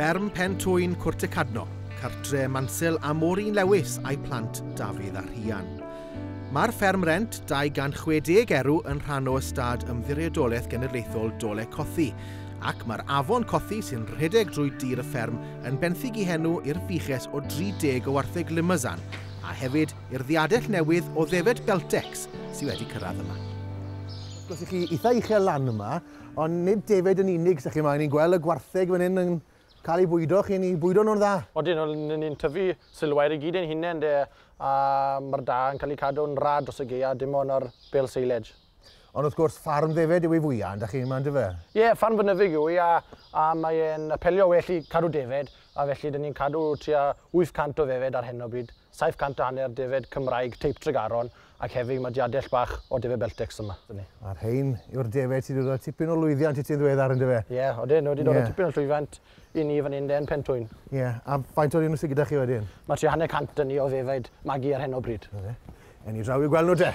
Fferm Pen Twyn Cwrt y Cadno, cartre Mansel a Maureen Lewis a'i plant Dafydd a Rhian. Mae'r fferm rent 260 erw yn rhan o ystâd Ymddiriedolaeth Genedlaethol Dole Cothi, ac mae'r afon Cothi sy'n rhedeg drwy dir y fferm yn benthyg i henw i'r fuches o 30 o wartheg Limousin, a hefyd i'r ddiadell newydd o ddefed Beltex sydd wedi cyrraedd yma. Wrth gwrs, chi eitha uchel lan yma, ond nid defed yn unig sy'ch chi yma. Ni'n gweld y gwartheg fan hyn yn cael ei bwydo, chi'n ei bwydo nhw'n dda. Odyn, ni'n tyfu silwair i gyd ein hunain de, a mae'r da yn cael ei cadw'n rad dros y gaea, dim ond ar bale silage. Ond wrth gwrs, ffarm ddefed yw ei fwyaf, ynda chi yma, yndyfe? Ie, yeah, ffarm fynyddig yw i, a mae'n apelio well i cadw defed, a felly dyn ni'n cadw tua 800 o ddefed ar hyn o bryd, 750 defed Cymraeg teip Tregaron, ac hefyd mae diadell bach o defed Beltex yma. A'r rhein yw'r defed sydd wedi dod â tipyn o lwyddiant i ti'n ddiweddar, yndyfe? Ie, yeah, odyn, wedi dod â tipyn o llwyddiant i ni fan hyn den Pentwyn. Ie, yeah, a faint o'r un sydd gyda chi wedyn? Mae tua 150 ni o ddefed magu ar hyn o bryd. En ni draw i gweld nhw te.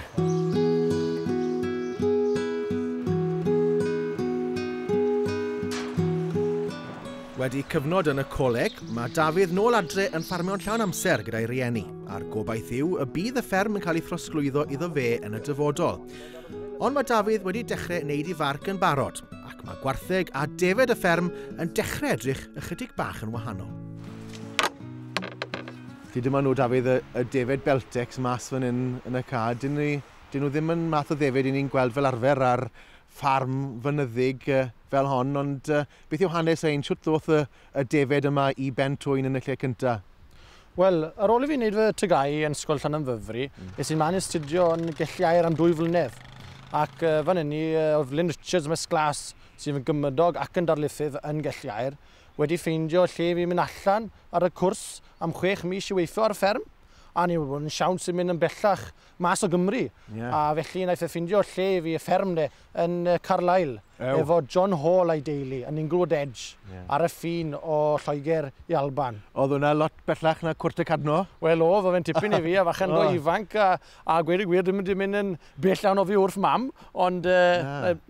Wedi cyfnod yn y coleg, mae Dafydd nôl adre yn ffarmio'n llawn amser gyda'i rieni, a'r gobaith yw y bydd y fferm yn cael ei throsglwyddo iddo fe yn y dyfodol. Ond mae Dafydd wedi dechrau wneud ei farc yn barod, ac mae gwartheg a defed y fferm yn dechrau edrych ychydig bach yn wahanol. Felly dyma nhw, Dafydd, y defed Beltex mas fan hyn yn y ca. Dyn nhw ddim yn math o ddefed i ni'n gweld fel arfer ar ffarm fynyddig fel hon, ond beth yw hanes ein? Shwt ddoth y defed yma i Ben Twyn yn y lle cyntaf? Wel, ar ôl i fi wneud fy TGAU yn Ysgol Llanymddyfri, es i'n man astudio yn Gelli Aur am 2 flynedd. Ac fan hynny, oedd Lynn Richards Miss Glas, sydd yn gymydog ac yn darlithydd yn Gelli Aur, wedi ffeindio lle fi'n mynd allan ar y cwrs am 6 mis i weithio ar y fferm. A ni wedi bod yn siawns sy'n mynd yn bellach mas o Gymru. Yeah. A felly wnaeth e ffindio lle i fi y fferm de yn Carlisle, efo John Hall a'i deulu yn Inglewood Edge, ar y ffin o Lloegr i Alban. Oedd hwnna lot bellach na Cwrt y Cadno? Wel oedd, oedd e'n tipyn i fi, a falle go ifanc, a gweud y gwir, ddim wedi mynd yn bell iawn o fi wrth mam, ond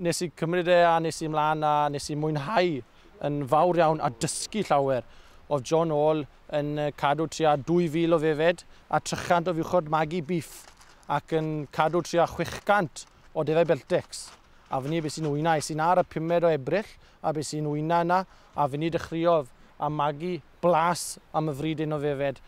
nes i cymryd e a nes i mlaen a nes i mwynhau yn fawr iawn a dysgu llawer. Oedd John Hall yn cadw tua 2,000 o ddefed a 300 o fuchod magu beef ac yn cadw tua 600 o defed Beltex. A fyny beth sy'n wyna, es i'n ar y 5 o Ebrill a beth sy'n wyna yna, a fyny dechreuodd a magu blas am y fryd un o ddefed.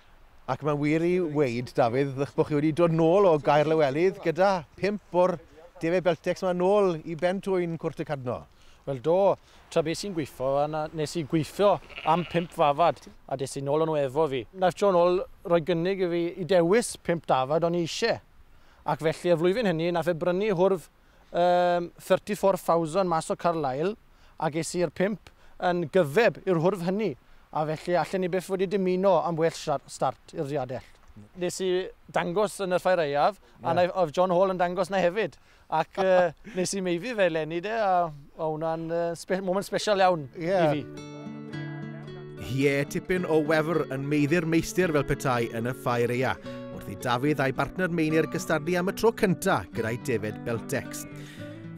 Ac mae'n wir i weid, Dafydd, eich bod chi wedi dod nôl o Gaer Lewelydd gyda 5 o'r defed Beltex yma nôl i Ben Twyn Cwrt y Cadno. Wel do, tra beth sy'n gweithio, nes i gweithio am 5 fafad a des i nôl o'n nhw efo fi. Nath John Hall roi gynnig i fi i dewis 5 dafad o'n i eisiau. Ac felly y flwyddyn hynny, nath e brynu hwrf 34,000 mas o Carlisle a ges i'r 5 yn gyfeb i'r hwrf hynny. A felly allan ni byth wedi dymuno am well start i'r diadell. Nes i dangos yn y ffair aeaf, a oedd John Hall yn dangos na hefyd. Ac nes i meifi fe eleni de, a hwnna'n moment special iawn i fi. Ie, tipyn o wefr yn meiddi'r meistr fel petai yn y ffair aeaf, wrth i Dafydd a'i bartner Meinir gystadlu am y tro cyntaf gyda'i defed Beltex.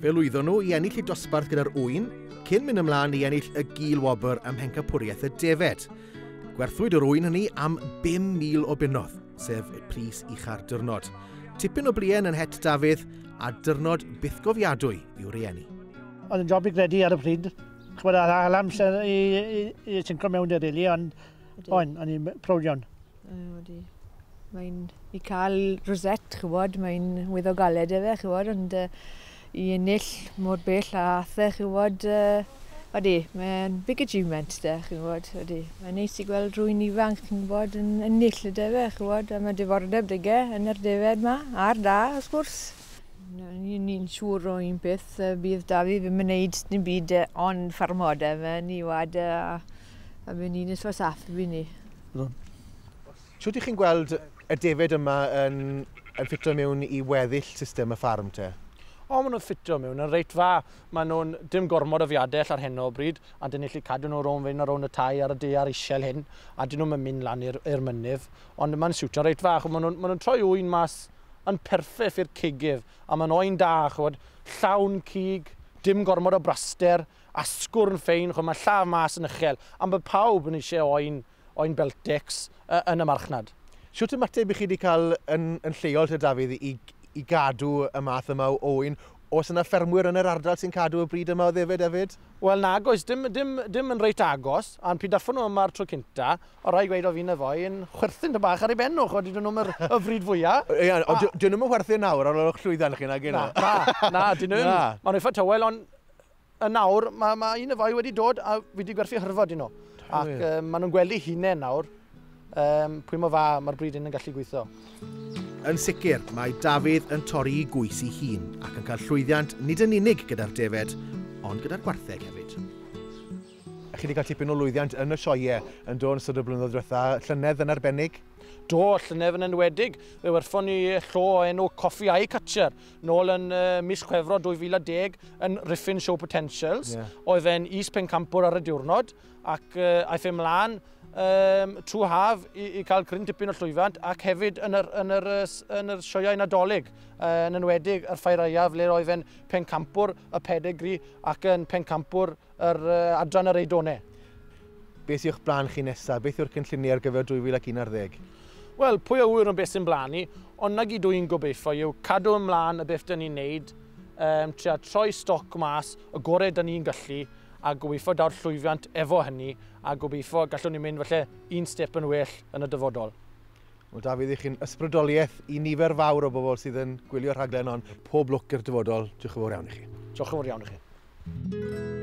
Fe lwyddon nhw i ennill eu dosbarth gyda'r ŵyn, cyn mynd ymlaen i ennill y gil wobr ym mhencampwriaeth y defed. Gwerthwyd yr ŵyn hynny am 5,000 o bunnoedd, sef y pris ucha'r diwrnod. Tipyn o bluen yn het Dafydd a dyrnod bythgofiadwy i'w rieni. Oedd yn job i gredu ar y pryd. Chwbod, ar amser i sinco mewn dy rili, ond o'n i'n prowd iawn. Odi. Mae'n i cael rosette, chwbod, mae'n wyddo galed efe, chwbod, ond i ennill mor bell a athe, chwbod, odi, mae'n big achievement de, chwbod, odi. Mae'n neis i gweld rhywun ifanc, chi'n gwybod, yn ennill y defe, chwbod, a mae diddordeb dyge yn yr defed ma, a'r da, wrth gwrs. Ni'n siŵr o un peth, bydd Dafydd ddim yn gwneud dim byd ond ffarmo de, mae'n i wad a mae'n un ysfa saff i ni. Shwt ych chi'n gweld y defed yma yn ffitio mewn i weddill system y ffarm te? O, maen nhw'n ffitio mewn yn reit dda. Maen nhw'n dim gormod o fiadell ar hyn o bryd, a dyn ni'n gallu cadw nhw rownd fynd ar rownd y tai ar y daear isiel hyn, a dyn nhw'n mynd lan i'r mynydd. Ond maen siwtio reit fach. Maen nhw'n troi ŵyn mas yn perffaith i'r cigydd, a maen oen da, chwbod, llawn cig, Dim gormod o braster, asgwrn ffein, ch'mod, mae llaw mas yn uchel, am bod pawb yn eisiau oen, oen Beltex yn y marchnad. Shwt ymateb i chi wedi cael yn lleol te, Dafydd, i gadw y math yma o oen? Oes yna ffermwyr yn yr ardal sy'n cadw y bryd yma o ddefed hefyd? Wel nag oes, dim yn reit agos, a'n pryd daffon nhw yma'r tro cynta, o rai gweud o fi'n y foi yn chwerthin dy bach ar ei ben nhw, ch'mod, dyn nhw'n y fryd fwyaf. Ie, ond dyn nhw'n chwerthin nawr ar ôl eich llwyddiant chi, nag Na, na, na, dyn nhw'n. Maen nhw'n eitha tawel, ond yn nawr, mae un y foi wedi dod a fi wedi gwerthu hyrfod i nhw. Ac maen nhw'n gweld eu hunain nawr, pwy mor dda mae'r bryd hyn yn gallu gweithio. Yn sicr, mae Dafydd yn torri i gwys ei hun ac yn cael llwyddiant nid yn unig gyda'r defed, ond gyda'r gwartheg hefyd. Chi wedi cael tipyn o lwyddiant yn y sioeau yn dod yn ystod y blynyddoedd diwetha, llynedd yn arbennig? Do, llynedd yn enwedig. Fe werthon ni llo o enw Coffee Eye Catcher nôl yn mis Chwefror 2010 yn Rhuthun Show Potentials. Oedd e'n is pencampwr ar y diwrnod ac aeth e mlaen trwy haf i cael cryn tipyn o llwyfant ac hefyd yn yr sioeau Nadolig, yn enwedig yr Ffair Aeaf le oedd e'n pencampwr y pedigri ac yn pencampwr yr adran yr Eidone. Beth yw'ch blaen chi nesaf? Beth yw'r cynlluniau ar gyfer 2011? Wel, pwy a ŵyr yn beth sy'n blaen ni, ond na gyd dwi'n gobeithio yw cadw ymlaen y beth dyn ni'n neud, trio troi stoc mas, y gorau dyn ni'n gallu, a gobeithio daw'r llwyddiant efo hynny, a gobeithio gallwn ni mynd falle un step yn well yn y dyfodol. Wel, Dafydd, i chi'n ysbrydoliaeth i nifer fawr o bobl sydd yn gwylio'r rhaglen, ond pob lwc i'r dyfodol. Diolch yn fawr iawn i chi. Diolch yn fawr iawn i chi.